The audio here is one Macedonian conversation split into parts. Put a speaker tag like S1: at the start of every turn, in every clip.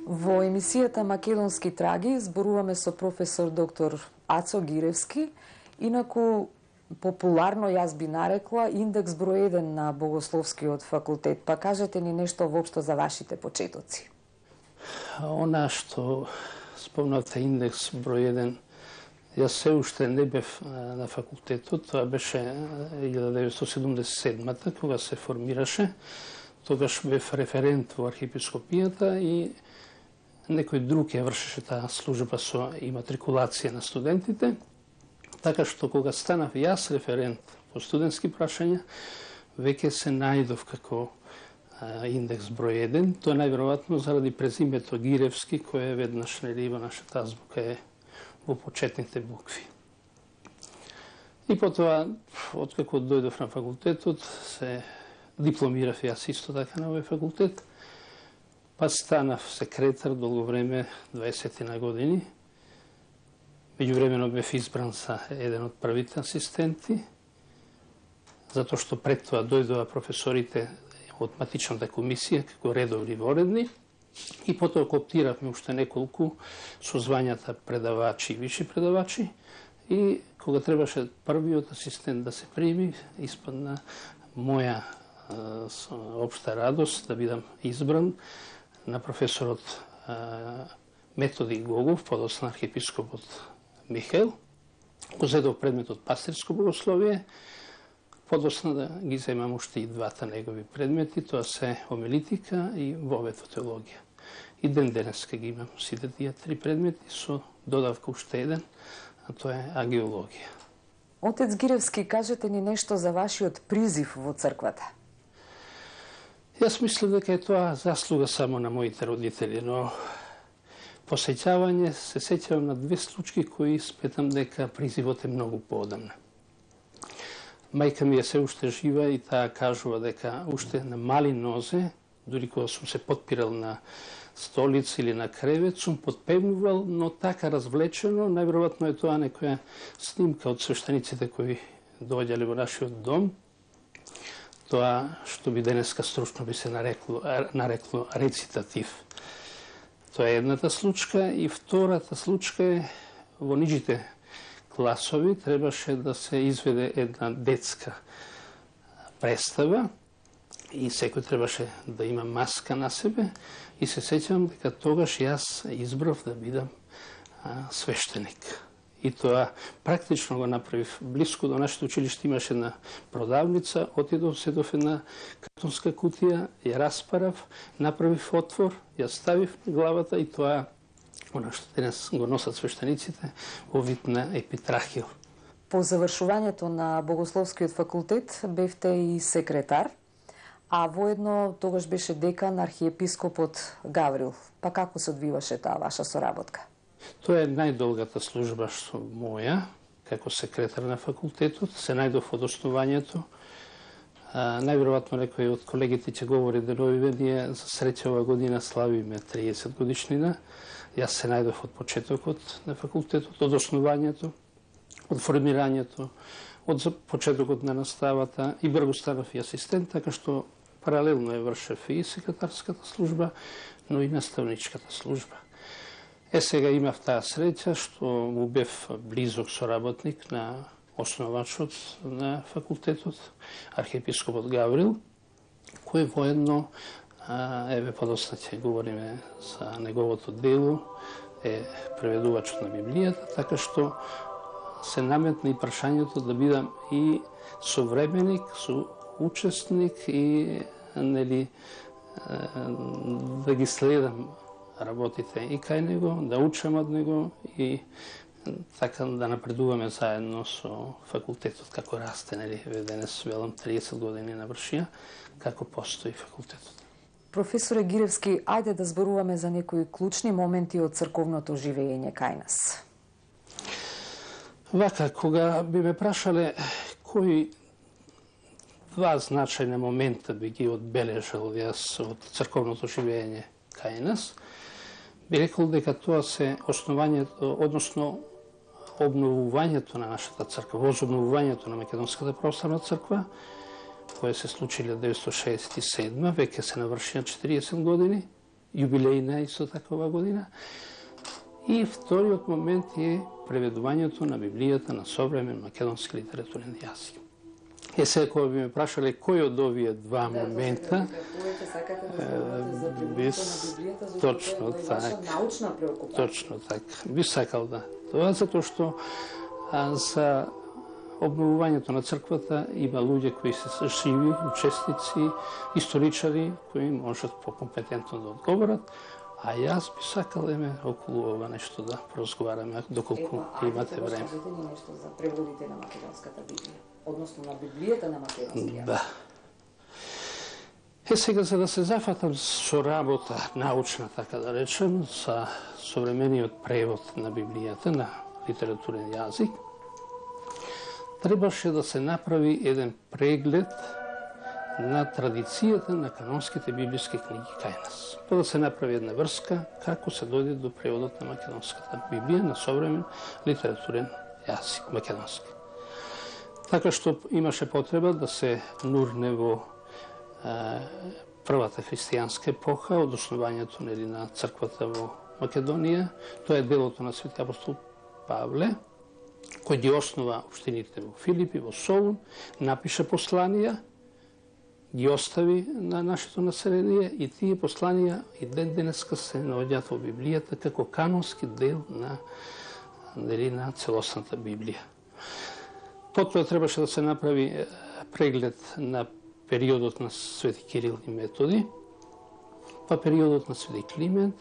S1: Во емисијата Македонски траги зборуваме со професор доктор Ацо Гиревски, инаку популарно јас би нарекла индекс број 1 на Богословскиот факултет. Па кажете ни нешто воопшто за вашите почетоци.
S2: Она што спомнавте индекс број 1, јас се уште не бев на факултетот, тоа беше 1977-та, кога се формираше. Тогаш бев референт во архиепископијата и некој друг ја вршеше таа служба со иматрикулација на студентите. Така што кога станав јас референт по студентски прашања, веќе се најдов како индекс број 1. Тоа најверојатно заради презимето Гиревски, кој е веднаш нели во нашата азбука е во почетните букви. И потоа, откако дојдов на факултетот, се дипломирав јас исто така на овој факултет, па станав секретар долго време, 20 на години. Меѓувремено бев избран за еден од првите асистенти, затоа што пред тоа дојдоа професорите од матичната комисија како редовни воредни и потоа кооптиравме уште неколку со звањата предавачи и виши предавачи и кога требаше првиот асистент да се прими, испадна моја општа радост да бидам избран на професорот Методи Гогов, подоцна архиепископот Михаил, го зедов предметот пастирско богословие, подоцна да ги земам уште и двата негови предмети, тоа се омелитика и вовето теологија. И ден денеска ги имам сите тие три предмети со додавка уште еден, а тоа е агеологија.
S1: Отец Гиревски, кажете ни нешто за вашиот призив во црквата.
S2: Јас мислам дека е тоа заслуга само на моите родители, но посеќавање се сеќавам на две случаи кои сметам дека призивот е многу поодамна. Мајка ми е се уште жива и таа кажува дека уште на мали нозе, дури кога сум се потпирал на столица или на кревет, сум подпевнувал, но така развлечено, најверојатно е тоа некоја снимка од свештениците кои доаѓале во нашиот дом, тоа што би денеска стручно би се нарекло рецитатив. Тоа е едната случка и втората случка е во нижите класови требаше да се изведе една детска представа и секој требаше да има маска на себе и се сеќавам дека тогаш јас избрав да бидам свештеник. И тоа практично го направив. Блиско до нашето училиште имаше една продавница, отидов, седов една картонска кутија, ја распарав, направив отвор, ја ставив на главата и тоа, она што денес го носат свештениците, во вид на епитрахил.
S1: По завршувањето на Богословскиот факултет бевте и секретар, а воедно тогаш беше декан архиепископот Гаврил. Па како се одвиваше таа ваша соработка?
S2: Тоа е најдолгата служба што моја, како секретар на факултетот, се најдов од основањето. Најверојатно некој од колегите ќе говори деновиве, ние за среќа ова година славиме 30 годишнина. Јас се најдов од почетокот на факултетот, од основањето, од формирањето, од почетокот на наставата и брзо станав и асистент, така што паралелно е вршев и секретарската служба, но и наставничката служба. Сега имав таа среќа што му бев близок соработник на основачот на факултетот, архиепископот Гаврил, кој воедно, еве подоцна ќе говориме за неговото дело, е преведувачот на Библијата, така што се наметна и прашањето да бидам и современик, соучесник и нели да ги следам работите и кај него, да учам од него и така да напредуваме заедно со факултетот како расте, нели, денес велам 30 години навршија, како постои факултетот.
S1: Професоре Гиревски, ајде да зборуваме за некои клучни моменти од црковното живење кај нас.
S2: Вака, кога би ме прашале кои два значајни момента би ги одбележал јас од црковното живење кај нас, би рекол дека тоа се основањето, односно обновувањето на нашата црква, возобновувањето на Македонската православна црква, која се случи 1967, веќе се навршија 40 години, јубилејна исто такова година. И вториот момент е преведувањето на Библијата на современ македонски литературен јазик. Сега, кога би ме прашале кој од овие два момента, точно така, точно така, би сакал да. Това затоа што за обновувањето на црквата има луѓе кои се живи, учесници, историчари кои можат покомпетентно да одговорат, а јас би сакал околу ова нешто да поразговараме доколку имате време.
S1: Кажете ни нешто за преводите на македонската Библија, односно на Библијата на македонски јазик.
S2: Да. Сега за да се зафатам со работа научна, така да речем, за современиот превод на Библијата на литературен јазик, требаше да се направи еден преглед на традицијата на канонските библиски книги кај нас. Па да се направи една врска како се дојде до преводот на македонската Библија на современ литературен јазик македонски. Така што имаше потреба да се нурне во првата христијанска епоха од основањето на црквата во Македонија. Тоа е делото на Свети апостол Павле, кој ги основа општините во Филипи, во Солун, напише посланија, ги остави на нашето население и тие посланија и ден денеска се наоѓаат во Библијата како канонски дел на целосната Библија. Потоа требаше да се направи преглед на периодот на Свети Кирил и Методи, па периодот на Свети Климент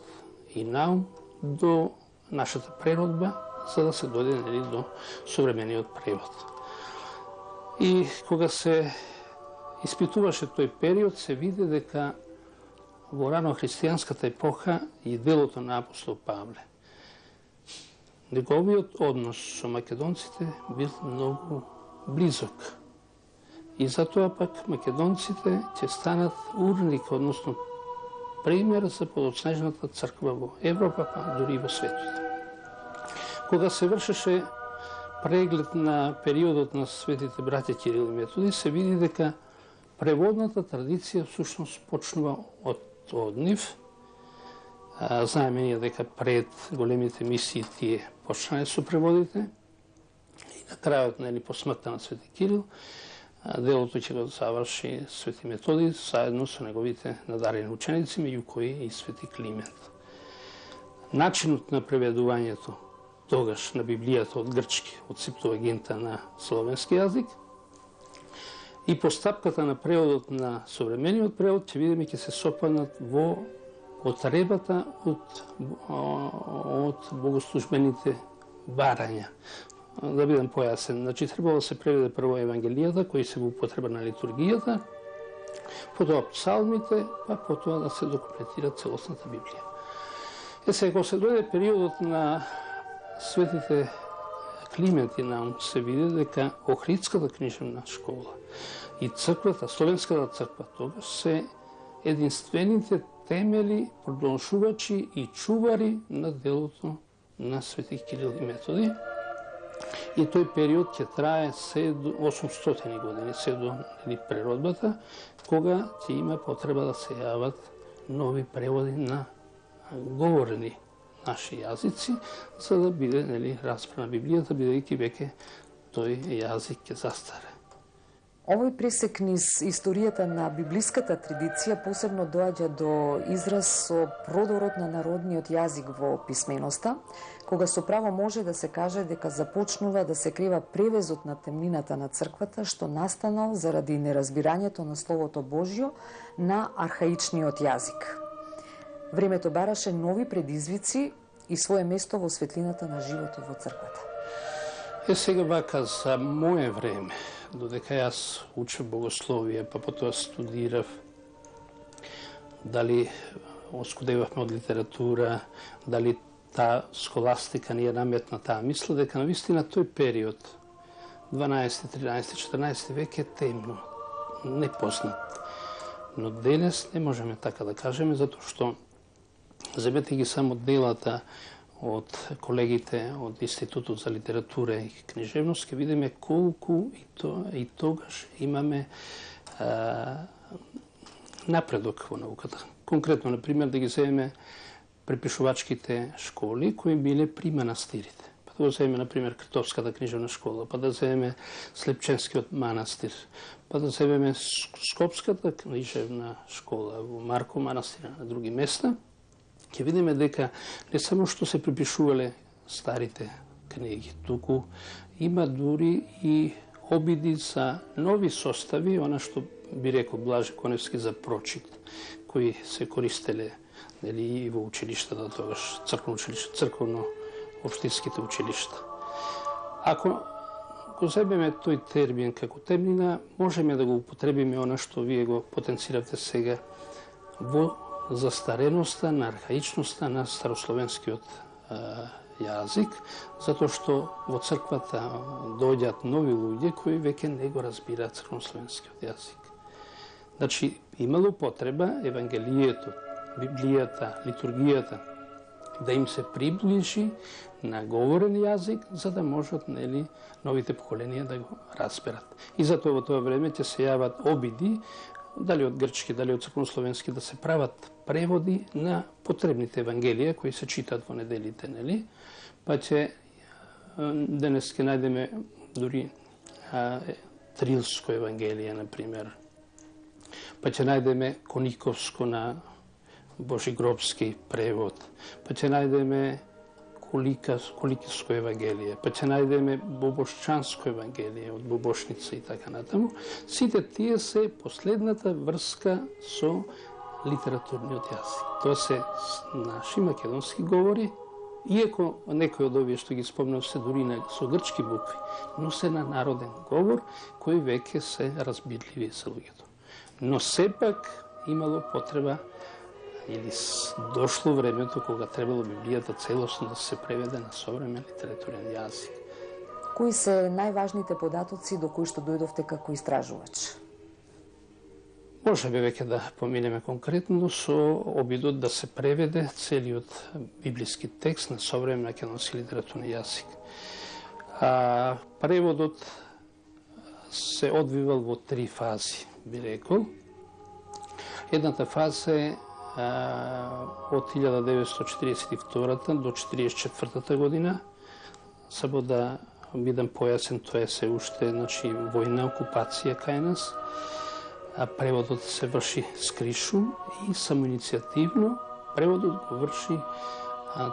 S2: и Наум до нашата преродба, за да се дојде до современиот превод. И кога се испитуваше тој период, се види дека во рано-христијанската епоха и делото на апостол Павле. Неговиот однос со македонците бил многу близок. И затоа пак македонците ќе станат урник, односно пример за подоцнежната црква во Европа, па дури и во светот. Кога се вршеше преглед на периодот на светите браќа Кирил и Методи, се види дека преводната традиција всушност почнува од нив. Знаеме ние дека пред големите мисии тие почнале со преводите и на крајот по смртта на Свети Кирил делото ќе го заврши Свети Методи заедно со неговите надарени ученици, меѓу кои и Свети Климент. Начинот на преведувањето тогаш на Библијата од грчки, од Септуагинта на словенски јазик, и постапката на преводот на современиот превод ќе видиме ќе се сопаднат во потребата од богослужбените барања. Да бидам појасен, значи требало да се преведе прво Евангелијата, кои се во употреба на литургијата, потоа псалмите, па потоа да се докомплетира целосната Библија. Сега, кога се дојде периодот на светите Климент и Наум, се види дека Охридската книжевна школа и црквата, Словенската црква, тогаш се единствените темели, продолжувачи и чувари на делото на Свети Кирил и Методи. И тој период ќе трае се до 800 години, се до преродбата, кога ќе има потреба да се јават нови преводи на говорени наши јазици, за да биде распрана Библијата, бидејќи веќе тој јазик ќе застаре.
S1: Овој пресек низ историјата на библиската традиција посебно доаѓа до израз со продорот на народниот јазик во писменоста, кога со право може да се каже дека започнува да се крива превезот на темнината на црквата, што настанал заради неразбирањето на Словото Божјо на архаичниот јазик. Времето бараше нови предизвици и свое место во светлината на животот во црквата.
S2: Сега вака, за мое време, додека јас учев богословие, па потоа студирав, дали оскудевавме од литература, дали таа схоластика ни е наметната, мисля дека навистина тој период, 12, 13, 14 век е темно, непознат. Но денес не можеме така да кажеме, затоа што земете ги само делата од колегите од Институтот за литература и книжевност, ќе видиме колку и тогаш имаме напредок во науката. Конкретно, например, да ги земеме препишувачките школи кои биле при манастирите. Па да го земеме, например, Кртовската книжевна школа, па да земеме Слепченскиот манастир, па да земеме Скопската книжевна школа во Марко манастир на други места, ќе видиме дека не само што се препишувале старите книги, туку има дури и обиди за нови состави, она што би рекол Блаже Коневски за прочит, кои се користеле и во училиштата тогаш, црковно-општинските училишта. Ако го земеме тој термин како темнина, можеме да го употребиме она што вие го потенциравте сега во застареноста, на архаичноста на старословенскиот јазик, затоа што во црквата доаѓаат нови луѓе кои веќе не го разбираат црковнословенскиот јазик. Значи, имало потреба Евангелието, Библијата, литургијата да им се приближи на говорен јазик, за да можат новите поколенија да го разберат. И затоа во тоа време ќе се јават обиди, дали од грчки, дали од црковнословенски, да се прават преводи на потребните евангелија кои се читаат во неделите, па ќе денес ќе најдеме дури Трилско евангелие, например, па ќе најдеме Кониковско на Божигробски превод, па ќе најдеме Коликиско евангелие, па ќе најдеме Бобошчанско евангелие од Бобошница и така натаму. Сите тие се последната врска со литературниот јазик. Тоа се наши македонски говори, иако некои од овие што ги спомнав се дури со грчки букви, но се на народен говор кои веќе се разбирливи за луѓето. Но сепак имало потреба или дошло времето кога требало Библијата целосно да се преведе на современ литературен јазик.
S1: Кои се најважните податоци до кои што дојдовте како истражувач?
S2: Можеме веќе да поминеме конкретно со обидот да се преведе целиот библиски текст на современ македонски литературен јазик. Преводот се одвивал во 3 фази, би рекол. Едната фаза е од 1942 до 1944 година. Само да бидам појасен, тоа е се уште војна окупација кај нас. Преводот се врши скришу и самоиницијативно. Преводот го врши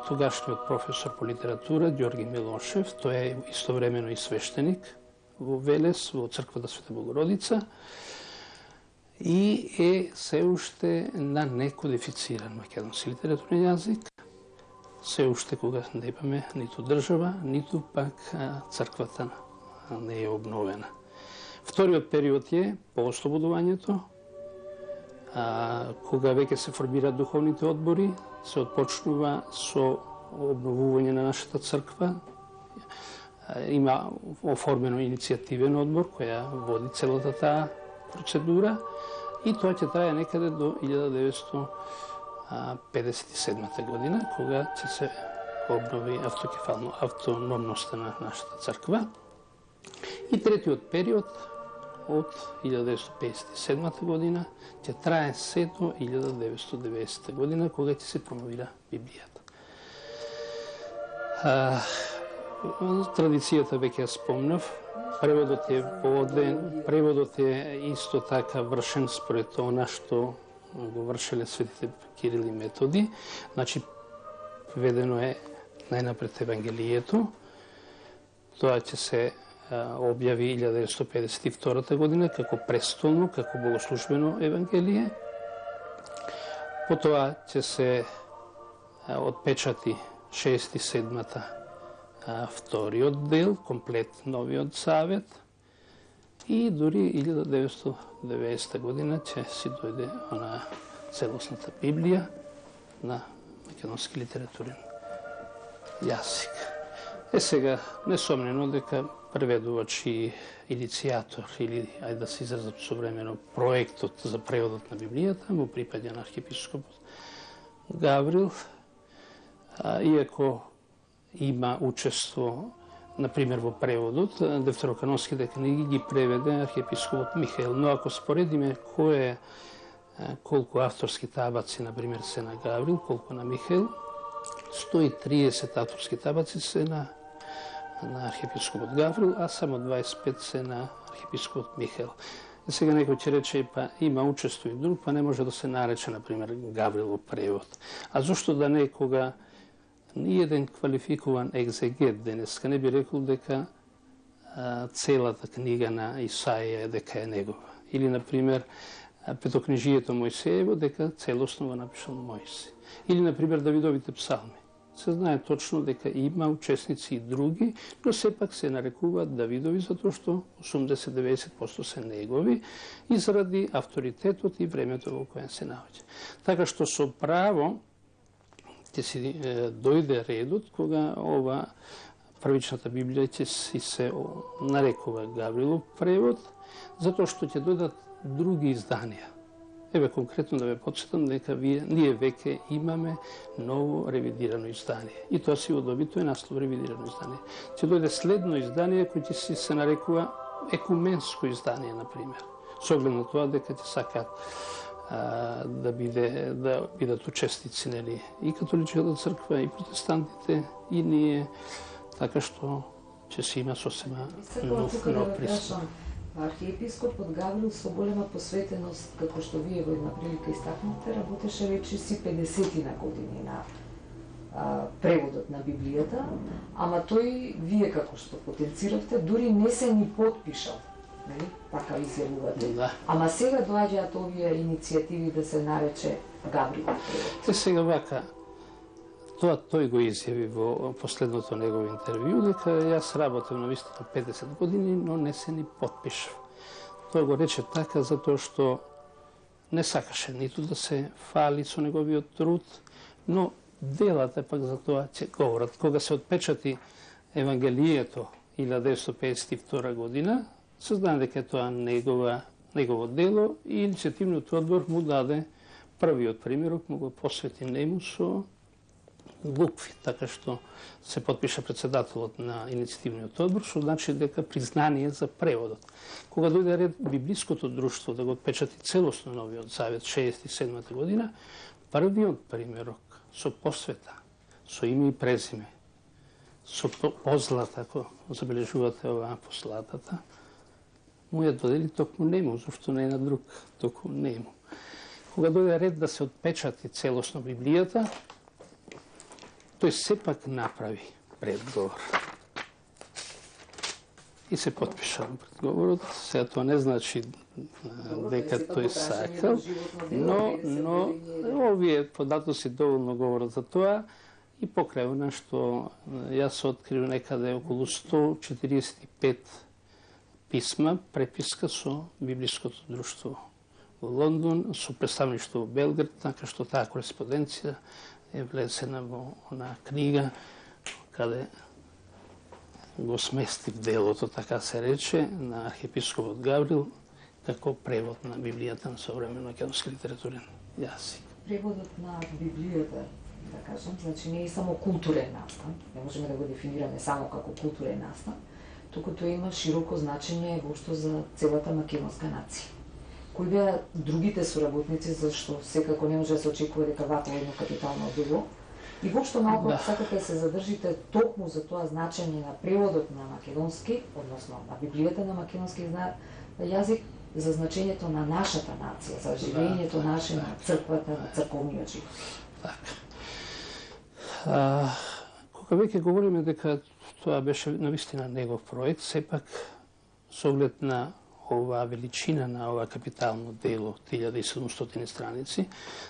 S2: тогашниот професор по литература Ѓорги Милошев. Тој е истовремено и свештеник во Велес, во црквата Света Богородица, и е се уште на некодифициран македонски литературен јазик, се уште кога не имаме ниту држава, ниту пак црквата не е обновена. Вториот период е по ослободувањето, кога веќе се формираат духовните одбори, се отпочнува со обновување на нашата црква. Има оформено иницијативен одбор која води целата таа процедура и тоа ќе трае некаде до 1957 година, кога ќе се обнови автономноста на нашата црква. И третиот период од 1957 година ќе трае се до 1990 година, кога ќе се промовира Библијата. Традицијата веќе ја спомнав, преводот е воден, преводот е исто така вршен според она што го вршеле светите Кирил и Методи. Значи, ведено е најнапред Евангелието. Тоа ќе се објави 1952 година како престолно, како богослужбено Евангелие. Потоа ќе се отпечати 6 и 7 вториот дел, комплет новиот завет, и дури 1990 година ќе си дојде она целосната Библија на македонски литературен јазик. Сега, несомнено дека преведувач и иницијатор, или, ајде да се изразам современо, проектот за преводот на Библијата му припаѓа на архиепископот Гаврил, иако има учество, например, во преводот, дефтероканонските книги ги преведе архиепископот Михаил. Но ако споредиме кој е колку авторски табаци, например, се на Гаврил, колку на Михаил. 130 авторски табаци се на архиепископот Гаврил, а само 25 се на архиепископот Михаил. И сега некој ќе рече, па има учествува и друг, па не може да се нарече, например, Гаврилов превод. А зошто да некога ни еден квалификуван екзегет денеска не би рекол дека целата книга на Исаија дека е негова. Или, например, Петокнижието Мојсеево дека целосно го напишал Мојсе. Или, например, Давидовите псалми. Се знае точно дека има учесници и други, но сепак се нарекуваат Давидови затоа што 80-90% се негови и заради авторитетот и времето во кое се наоѓа. Така што со право ќе си дојде редот кога ова првичната Библија ќе си се нарекува Гаврилов превод, затоа што ќе дојдат други изданија. Еве конкретно да ве подсетам дека ние веќе имаме ново ревидирано издание. И тоа си одобито е наслов ревидирано издание. Ќе дојде следно издание кој ќе си се нарекува екуменско издание, например. Со оглед на тоа дека ќе сакаат да бидат учесници, нели, и католичката црква, и протестантите, и ние, така што ќе се има сосема нов пристап.
S1: Архиепископот Гаврил со голема посветеност, како што вие во една прилика истакнавте, работеше речи си 50 години на преводот на Библијата, ама тој, вие како што потенциравте, дури не се ни подпишал, нели? Така изјавувате.
S2: Да.
S1: Ама сега доаѓаат овие иницијативи да се нарече Гаврилов превод.
S2: Сега вака, тоа тој го изјави во последното негово интервју, дека јас работев на вистина 50 години, но не се ни подпишав. Тој го рече така затоа што не сакаше ниту да се фали со неговиот труд, но делата пак за тоа ќе говорат. Кога се отпечати Евангелието 1952 година, се знае дека тоа негово дело и иницијативниот одбор му даде првиот примерок, му го посвети нему со букви, така што се подпиша председателот на иницијативниот одбор, што значи дека признание за преводот. Кога дојде ред Библиското друштво да го отпечати целосно новиот завет 67 година, првиот примерок со посвета, со име и презиме, со позлата, ако забележувате оваа послатата, му ја додели токму нему, зашто не е на друг, токму нему. Кога дојде ред да се отпечати целосно Библијата, тој сепак направи предговор. И се подпиша предговорот. Сега тоа не значи дека тој сакал, но овие податоци доволно говорат за тоа и покрај она што јас открив некаде околу 145 писма, преписка со Библиското друштво во Лондон, со представништво во Белград, така што таа кореспонденција е влесена во она книга, каде го сместив делото, така се рече, на архиепископот Гаврил, како превод на Библијата на современ македонски литературен јазик.
S1: Преводот на Библијата, да кажам, значи не е само културен настан, не можеме да го дефинираме само како културен настан, туку тоа има широко значење воопшто за целата македонска нација. Кои беа другите соработници, зашто секако не може да се очекува дека вакво едно капитално дело. И воопшто малку сакате да се задржите токму за тоа значење на преводот на македонски, односно на Библијата на македонски јазик, за значењето на нашата нација, за живењето наше на црквата, на црковниот живот.
S2: Кога веќе говориме дека тоа беше навистина негов проект, сепак со оглед на оваа величина на ова капитално дело, 1700 страници,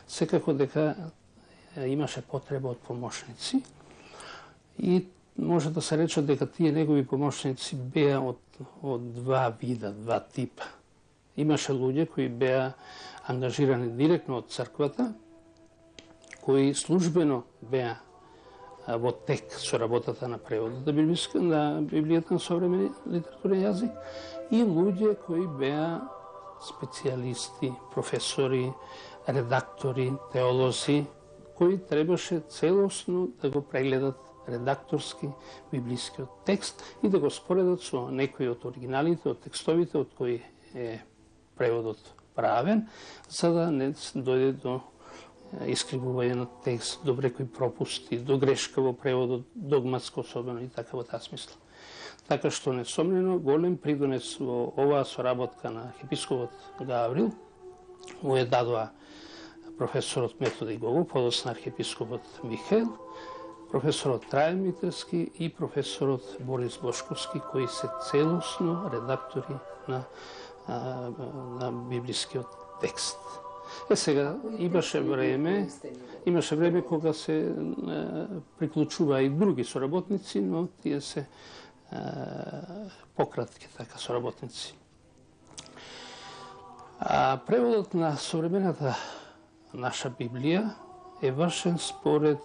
S2: секако дека имаше потреба од помошници и може да се рече дека тие негови помошници беа од два вида, два типа. Имаше луѓе кои беа ангажирани директно од црквата, кои службено беа во тек со работата на преводот на Библијата на современ литературен јазик, и луѓе кои беа специјалисти, професори, редактори, теолози, кои требаше целосно да го прегледат редакторски библискиот текст и да го споредат со некои од оригиналите, од текстовите од кои е преводот правен, за да не дојде до искривување на текст, до некои пропусти, до грешка во преводот, догматско особено и така во таа смисла. Така што несомнено голем придонес во оваа соработка на архиепископот Гаврил му е дадоа професорот Методи Гогов, подосна архиепископот Михаил, професорот Трајан Митерски и професорот Борис Бошковски, кои се целосно редактори на библискиот текст. Сега имаше време кога се приклучува и други соработници, но тие се пократки така соработници. Преводот на современата наша Библија е вршен според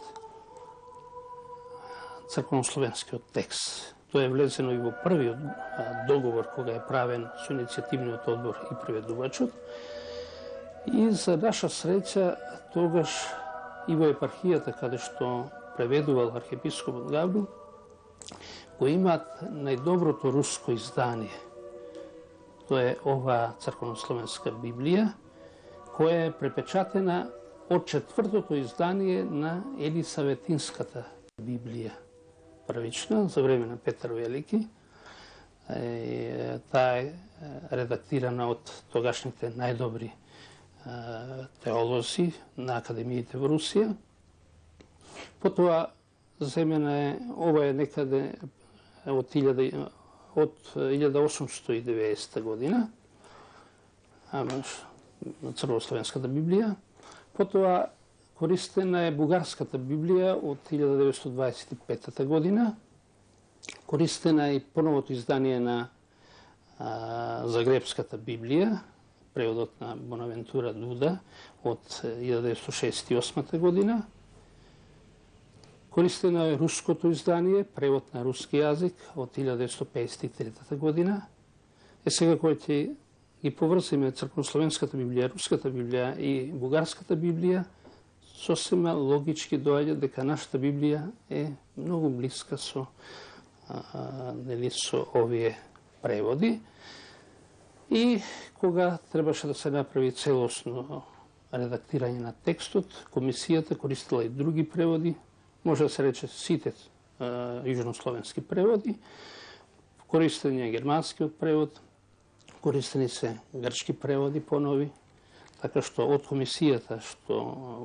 S2: црковнословенскиот текст. Тоа е влезено и во првиот договор кога е правен со иницијативниот одбор и преведувачот. И за наша среќа тогаш и во епархијата каде што преведувал архиепископот Гаврил го имаат најдоброто руско издание. Тоа е оваа црковнословенска Библија, која е препечатена од четвртото издание на Елисаветинската Библија. Првична, за време на Петар Велики. Таа е редактирана од тогашните најдобри теолози на академиите во Русија. Потоа земена е, ова е некаде од 1890 година, црковнословенската Библија. Потоа користена е бугарската Библија од 1925 година. Користена е и поновото издание на Загребската Библија, преводот на Бонавентура Дуда од 1968 година. Користено е руското издание, превод на руски јазик од 1953 година. Сега кој ќе ги поврзиме црковнословенската Библија, руската Библија и бугарската Библија, сосема логички доаѓа дека нашата Библија е многу блиска со овие преводи. И кога требаше да се направи целосно редактирање на текстот, комисијата користила и други преводи, може да се рече сите јужнословенски преводи, користен е германскиот превод, користени се грчки преводи понови, така што од комисијата што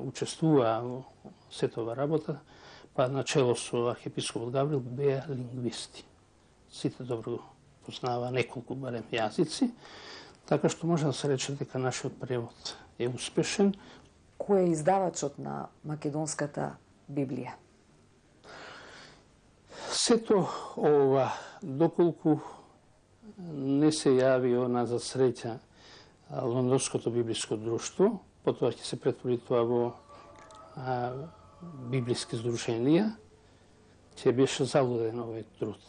S2: учествува во сетова работа, па начело со архиепископот Гаврил беа лингвисти. Сите добро го познава неколку барем јазици, така што може да се рече дека нашиот превод е успешен.
S1: Кој е издавачот на македонската Библија?
S2: Сето ова, доколку не се јави она за среќа Лондонското библиско друштво, потоа ќе се претвори тоа во библиски здруженија, ќе беше залуден овој труд.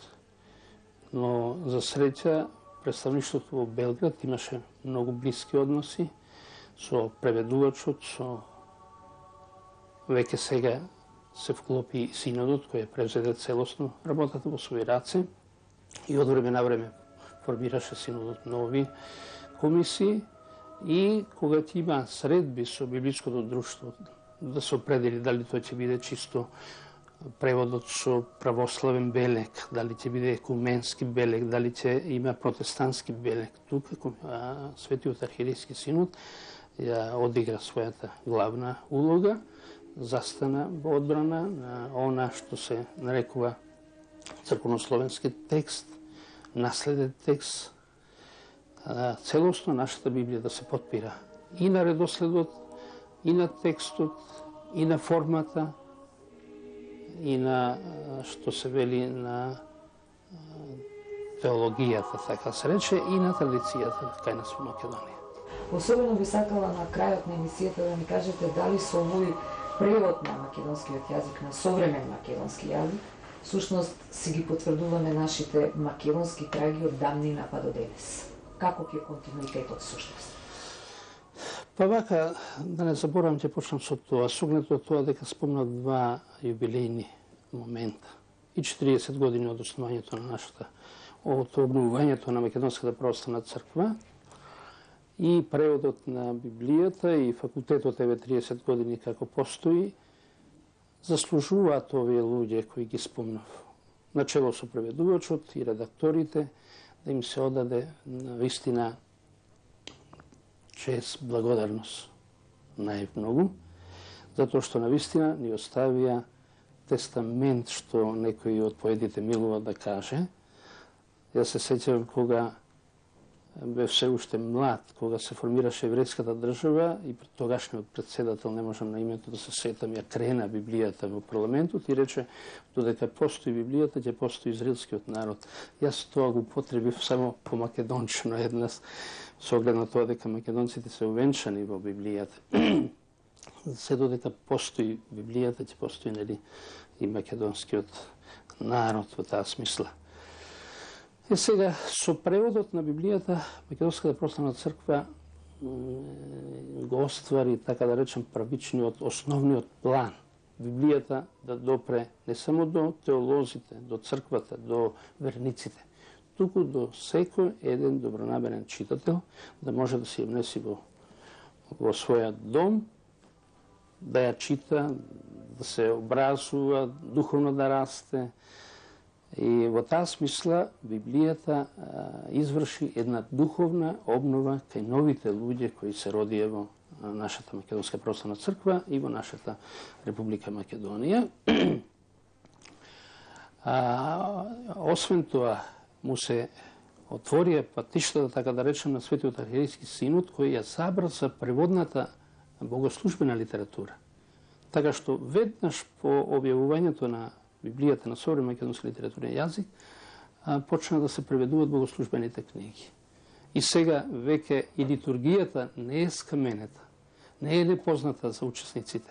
S2: Но за среќа представништвото во Белград имаше многу блиски односи со преведувачот, со веќе сега се вклопи синодот кој превзеде целосно работата во своји раце и од време на време формираше синодот нови комисии и кога ќе има средби со библиското друштво да се определи дали тој ќе биде чисто преводот со православен белег, дали ќе биде екуменски белег, дали ќе има протестантски белег. Тука Светиот архиерейски синод ја одигра својата главна улога, застана во одбрана на она што се нарекува црковнословенски текст, наследен текст, целосно нашата Библија да се потпира и на редоследот, и на текстот, и на формата, и на, што се вели, на теологијата, така се рече, и на традицијата кај нас во Македонија.
S1: Особено би сакала на крајот на емисијата да ми кажете дали со овој превод на македонскиот јазик, на современ македонски јазик, всушност си ги потврдуваме нашите македонски траги од давнина па до денес. Како ќе континуитетот всушност?
S2: Па вака, да не заборавам, ќе почнам со тоа. Сугнето тоа дека спомнав два јубилејни момента. И 40 години од основањето на нашата, од обновувањето на Македонската православна црква и преводот на Библијата и факултетот еве 30 години како постои, заслужуваат овие луѓе кои ги спомнав. Начело со преведувачот и редакторите, да им се одаде на вистина чест, благодарност најмногу, затоа што на вистина ни оставија тестамент што некој од поетите милува да каже. Јас се сеќавам кога бев се уште млад, кога се формираше еврејската држава и тогашниот председател, не можам на името да се сетам, ја крена Библијата во парламентот и рече додека постои Библијата, ќе постои израелскиот народ. Јас тоа го употребив само по македончино еднаш, со оглед на тоа дека македонците се увенчани во Библијата. Се додека постои Библијата, ќе постои нели и македонскиот народ во таа смисла. И сега, со преводот на Библијата, Македонската православна црква го оствари, така да речем, правичниот, основниот план. Библијата да допре не само до теолозите, до црквата, до верниците, туку до секој еден добронамерен читател, да може да се ја внеси во својот дом, да ја чита, да се образува, духовно да расте. И во таа смисла Библијата изврши една духовна обнова кај новите луѓе кои се родија во нашата Македонска православна црква и во нашата Република Македонија. Освен тоа, му се отворија патиштата, така да речем, на Светиот архиерейски синод, кој ја забрза преводната богослужбена литература. Така што веднаш по објавувањето на Библијата на современ македонски литературен јазик, почна да се преведуваат богослужбените книги. И сега веќе и литургијата не е скаменета, не е непозната за учесниците,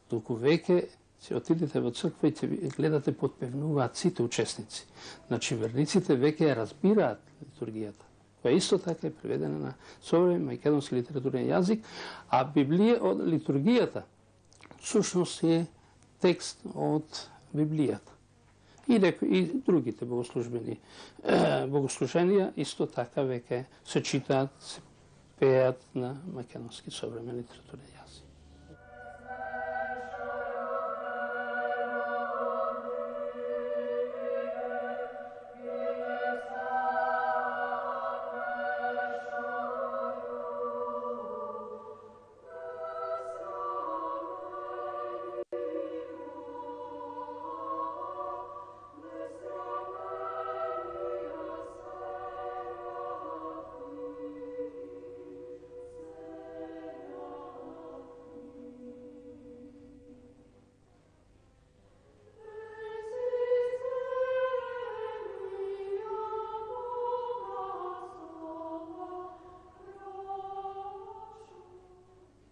S2: туку веќе ќе отидете во црква и ќе гледате подпевнуваат сите учесници. Значи верниците веќе ја разбираат литургијата, која исто така е преведена на современ македонски литературен јазик, а литургијата всушност е текст од Библијата. И другите богослуженија исто така веќе се читаат, се пеат на македонски современ литературен јазик.